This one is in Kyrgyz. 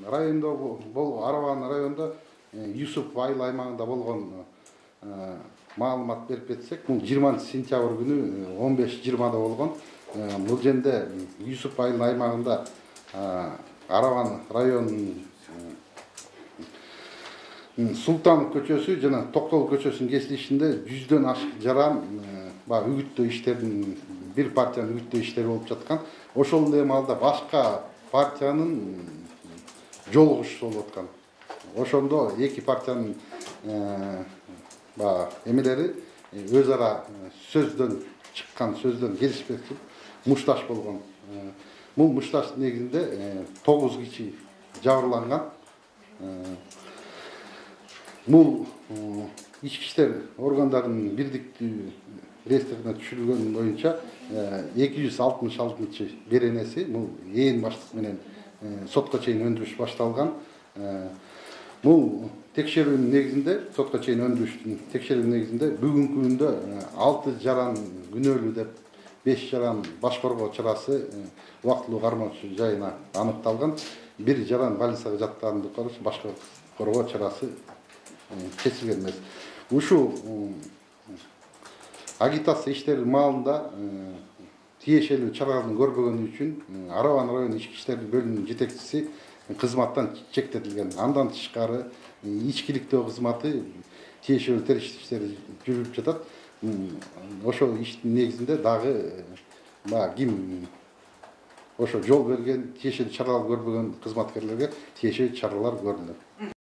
районунда Араван районунда Юсуп айыл аймагында болгон маалымат берип кетсек, бул 20 сентябрь күнү 15:20 болгон. Бул жерде Юсуп айыл аймагында Араван районунун Султан көчөсү жана Токтол көчөсүнүн кесилишинде 100дөн ашык жаран үгүттөө иштерин, бир партиянын үгүттөө иштери болуп жаткан. Ошол эле маалда башка партиянын жолугушуу болуп аткан. Ошондо эки партиянын эмелери өз ара сөздөн келишпестик мушташ болгон. Бул мушташтын негизинде 9 киши жабырланган. Бул ички иштер органдарынын бирдиктүү реестрине түшүрүлгөн боюнча 266 беренеси бул ээн баштык менен сотко чейин өндүрүш башталган. Бул текшерүүнүн негизинде, сотко чейин өндүрүштүн текшерүүнүн негизинде бүгүнкү күндө 6 жаран күнөөлүү деп 5 жаран баш коргоо чарасы убактылуу кармоочу жайына аныкталган. 1 жаран больницага жаткандыгы караш баш коргоо чарасы кесилген эмес. Ушул агитация иштери маалында тиешелүү чараларын көрбөгөнү үчүн Араван район ички иштер бөлүмүнүн жетекчиси кызматтан чектетилген. Андан тышкары ичкиликтөө кызматы тиешелүү териштик иштери жүрүп жатат. Ошол иштин негизинде дагы ким ошо жол берген, тиешелүү чаралар көрбөгөн кызматкерлерге тиешелүү чаралар көрүлөт.